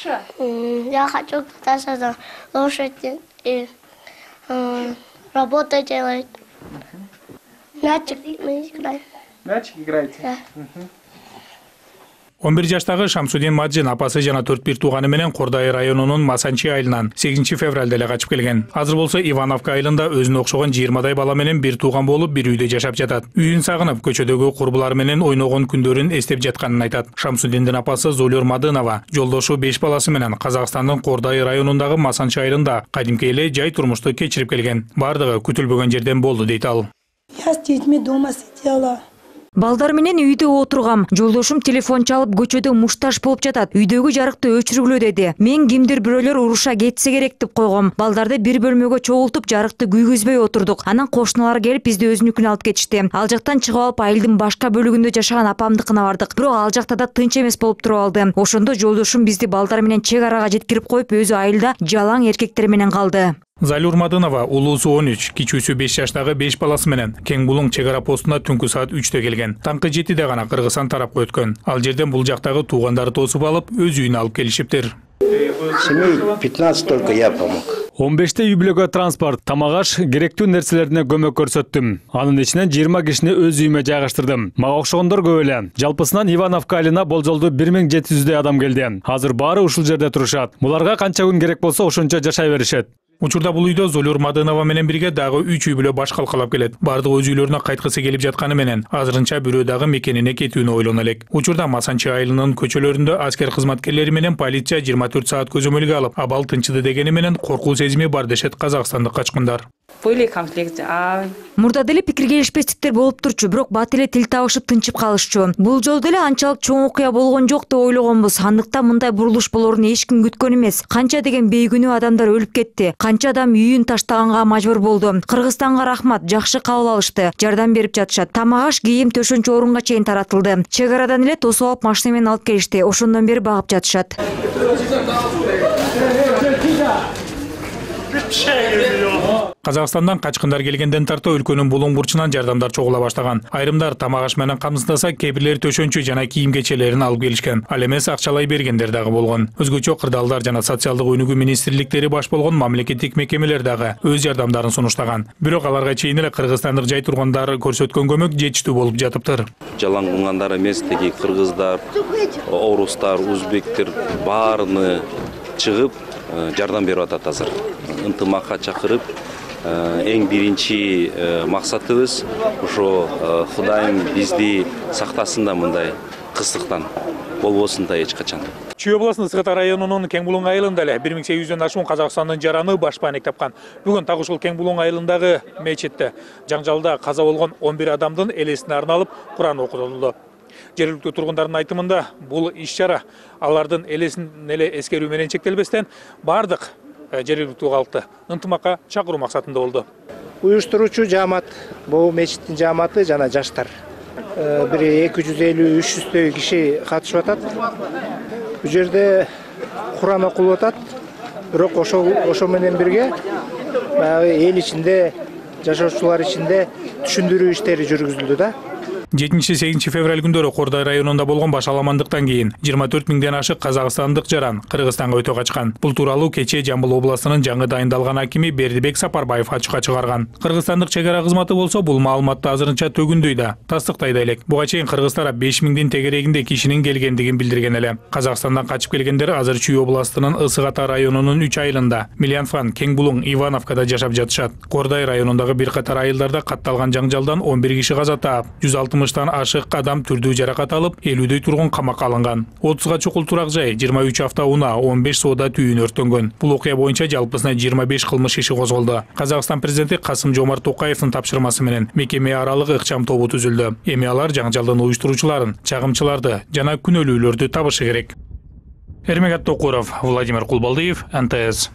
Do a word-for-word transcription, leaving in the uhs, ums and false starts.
Я хочу кататься на лошади и работать делать. Мячик мы играем. Мячик играете? Да. он бир жаштагы Шамсудин Маджин апасы жана төрт бир тууганы менен Кордай районунун Масанчи айылынан сегизинчи февралда эле качып келген. Азыр болсо Ивановка айылында өзүнө окшогон жыйырмадай бала менен бир тууган болуп, бир үйдө жашап жатат. Үйүн сагынып, көчөдөгү курбулары менен ойногон күндөрүн эстеп жатканын айтат. Шамсудиндин апасы Золюр Мадынова жолдошу беш баласы менен Казакстандын Кордай районундагы Масанчи айылында кадимки эле жай турмушту кечирип келген. Бардыгы күтүлбөгөн жерден болду дейт ал. Я с детьми дома сидела. Балдар менен үйдө отургам. Жолдошум телефон чалып көчөдө мушташ болуп жатат. Үйдөгү жарыкты өчүргүлө деди. Мен кимдир бирөөлөр уруша кетсе керек деп койгом. Балдарды бир бөлмөгө чогултуп, жарыкты күйгүзбөй отурдук. Анан кошуналар келип бизди өзүнүкүнө алып кетишти. Ал жактан чыгып алып айылдын башка бөлүгүндө жашаган апамдыкына бардык. Бирок ал жакта да тынч эмес болуп туруп алды. Ошондо жолдошум бизди балдар менен чек арага жеткирип коюп, өзү айылда жалаң эркектер менен калды. Залюр Мадынова улуусу он үч, кичүүсү беш жаштагы беш баласы менен Кең Булуң чек ара постуна түнкү саат үчтө келген. Таңкы жетиде гана Кыргызстан тарапка өткөн. Ал жерден бул жактагы туугандары тосуп алып, өз үйүнө алып келишиптир. Семей пятнадцать только я помог. он беште үй бүлөгө транспорт, тамак аш, керектүү нерселерине көмөк көрсөттүм. Анын ичинен жыйырма кишини өз үйүмө жайгаштырдым. Мага окшогондор көп эле. Жалпысынан Ивановка айылына болжолдуу бир миң жети жүздөй адам келди. Азыр баары ушул жерде турушат. Буларга канча күн керек болсо ошончо жашай беришет. Учурда бул үйдө Золюр Мадынова менен бирге дагы үч үй бүлө баш калкалап келет. Бардыгы өз үйлөрүнө кайткысы келип жатканы менен азырынча бирөө дагы мекенине кетүүнү ойлоно элек. Учурда Масанчи айылынын көчөлөрүндө аскер кызматкерлери менен полиция жыйырма төрт саат көзөмөлгө алып, абал тынчыды дегени менен коркуу сезими бар дешет казакстандык качкындар. Были конфликты. Мурда деле пикир келишпестиктер болуп турчу, бирок бат эле тил табышып тынчып калышчу. Бул жолу деле анчалык чоң окуя болгон жок деп ойлогонбуз. Андыктан мындай бурулуш болорун эч ким күткөн эмес. Канча деген бейгүнөө адамдар өлүп кетти. Канча адам үйүн таштаганга мажбур болду. Кыргызстанга рахмат, жакшы кабыл алышты. Жардам берип жатышат. Тамак аш, кийим, төшөнчү орунга чейин таратылды. Чек арадан эле тосуп алып машина менен алып келишти. Ошондон бери багып жатышат. Казакстандан качкындар келгенден тарта өлкөнүн булуң бурчунан жардамдар чогула баштаган. Айрымдар тамак аш менен камсыздаса, кээбирлери төшөнчү жана кийим кечелерин алып келишкен. Ал эмес акчалай бергендер дагы болгон. Өзгөчө кырдаалдар жана социалдык өнүгүү министрликтери баш болгон мамлекеттик мекемелер дагы өз жардамдарын сунуштаган. Бирок аларга чейин эле кыргызстандык жай тургандар көрсөткөн көмөк жетиштүү болуп жатыптыр. Жалаң кылгандар эмес, теги кыргыздар, орустар, узбектер баарыны чыгып жардам берип атат азыр. Ынтымакка чакырып, эң биринчи максатыбыз ошо Кудайым бизди сактасын да мындай кыстыктан болбосун да эч качан. Чүй областынын Сыгыта районунун Кең Булуң айылында эле бир миң сегиз жүздөн ашуун Казакстандын жараны баш пааник тапкан. Бүгүн так ушул Кең Булуң айылындагы мечитте жаңжалда каза болгон он бир адамдын элесине арналып Куран окутулду. Жергиликтүү тургундардын айтымында бул иш-чара алардын элесин эле эскерүү менен чектелбестен бардык жергиликтүү калкты ынтымакка чакыруу максатында болду. Уюштуруучу жаамат, бул мечиттин жааматы жана жаштар. Бир эки жүз элүү үч жүздөй киши катышып атат. Бул жерде Куран окулуп атат. Бирок ошол ошо менен бирге эл ичинде, жашоочулар ичинде түшүндүрүү иштери жүргүзүлдү да. жетинчи сегизинчи февраль күндөрү Кордай районунда болгон баш аламандыктан кийин жыйырма төрт миңден ашык казакстандык жаран Кыргызстанга өтө качкан. Бул тууралуу кечээ Жамбыл областынын жаңы дайындалган акими Бердибек Сапарбаев ачыкка чыгарган. Кыргызстандык чек ара кызматы болсо бул маалыматты азырынча төгүндөй да, тастыктай да элек. Буга чейин Кыргыз тарап беш миңдин тегерегинде кишинин келгендигин билдирген эле. Казакстандан качып келгендер азыр Чүй областынын Ысыгата районунун үч айылында, Милянфан, Кең Булуң, Ивановкада жашап жатышат. Кордай районундагы бир катар айылдарда катталган жаңжалдан он бир киши каза таап, жүз алтымыштан ашык адам түрдүү жаракат алып, элүүдөй тургун камакка алынган. отузга чукул турак жай, жыйырма үч автоунаа, он беш соода түйүн өрттөнгөн. Бул окуя боюнча жалпысына жыйырма беш кылмыш иши козголду. Казакстан президенти Касым Жомарт Токаевдин тапшырмасы менен мекеме аралык ыкчам тобу түзүлдү. Эми алар жаңжалдын уюштуруучуларын, чагымчыларды жана күнөөлүүлөрдү табышы керек. Эрмегат Токуров, Владимир Кулбалдиев, эн тэ эс.